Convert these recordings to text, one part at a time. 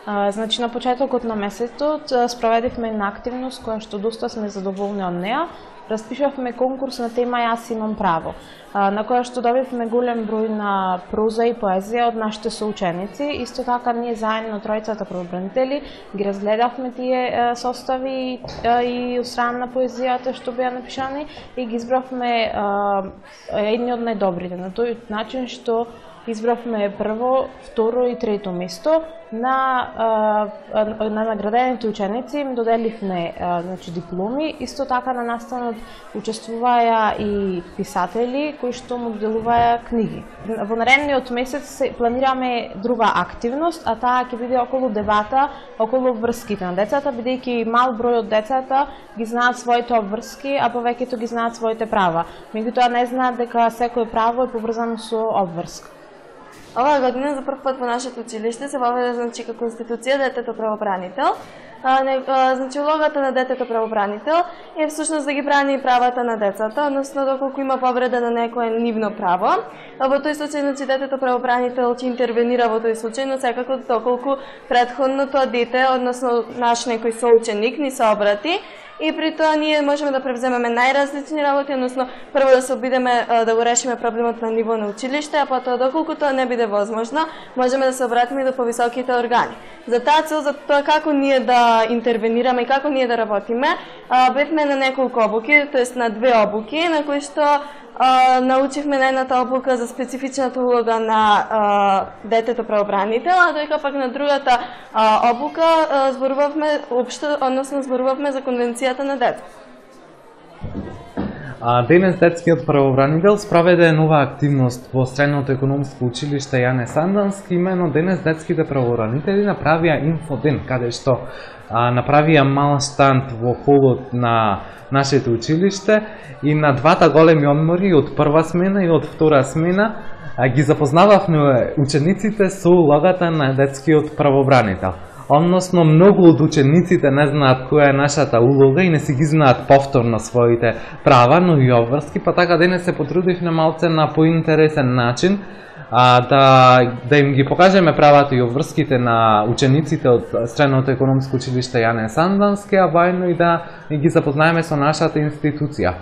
Значи, на почетокот на месецот спроведивме една активност која што доста сме задоволни од неа. Распишавме конкурс на тема Јас имам право, на која што добивме голем број на проза и поезија од нашите соученици. Исто така, ние заедно тројцата правобранители ги разгледавме тие состави и од страна на поезијата што беа напишани и ги избравме едни од најдобрите, на тој начин што избравме прво, второ и трето место. На наградените ученици им доделивме дипломи. Исто така на настанот учествуваја и писатели кои што му доделуваја книги. Во наредниот месец планираме друга активност, а таа ќе биде околу дебата околу обврските на децата, бидејќи мал број од децата ги знаат своите обврски, а повеќето ги знаат своите права. Меѓутоа не знаат дека секое право е поврзано со обврска. Оваа година за прв пат во нашето училиште се воведе како институција детето правобранител. Значи, улогата на детето правобранител е всушност да ги брани правата на децата, односно доколку има повреда на некое нивно право. Во тој случај, значи, детето правобранител ќе интервенира во тој случај, но секако доколку претходно тоа дете, односно наш некој соученик ни се обрати, и при тоа ние можеме да превземеме најразлични работи, односно прво да се обидеме да го решиме проблемот на ниво на училиште, а потоа доколку тоа не биде возможно, можеме да се обратиме и до повисоките органи. За таа цел, за тоа како ние да интервенираме и како ние да работиме, бевме на неколку обуки, тоест на 2 обуки, на кои што научивме на едната обука за специфичната улога на детето правобранител, а доека пак на другата обука зборувавме општо, односно зборувавме за конвенцијата на детето. Денес детскиот правобранител спроведе нова активност во Средното економско училиште Јане Сандански. Имено денес детските правобранители направија инфоден, каде што направија мал штанд во холот на нашето училиште и на двата големи одмори, од прва смена и од втора смена, ги запознававме учениците со улогата на детскиот правобранител. Односно, многу од учениците не знаат која е нашата улога и не си ги знаат повторно своите права, но и обврски, па така денес се потрудивме малце на поинтересен начин да им ги покажеме правата и обврските на учениците од Средното економско училиште Јане Сандански, а воедно и да ги запознаеме со нашата институција.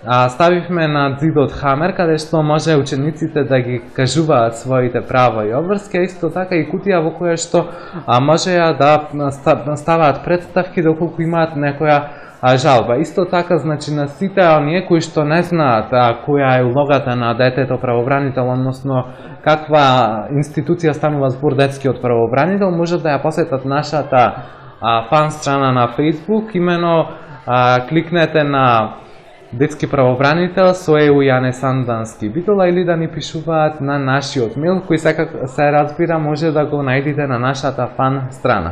Ставивме на ѕидот хамер, каде што може учениците да ги кажуваат своите права и обврски, а исто така и кутија во која што можеа да ставаат представки доколку имаат некоја жалба. Исто така, значи, на сите оние кои што не знаат која е улогата на детето правобранител, односно каква институција станува збор детскиот правобранител, може да ја посетат нашата фан страна на Facebook, имено кликнете на детски правобранител со ЕУ Јане Сандански Битола или да ни пишуваат на нашиот мејл, кој секако се разбира може да го најдете на нашата фан страна.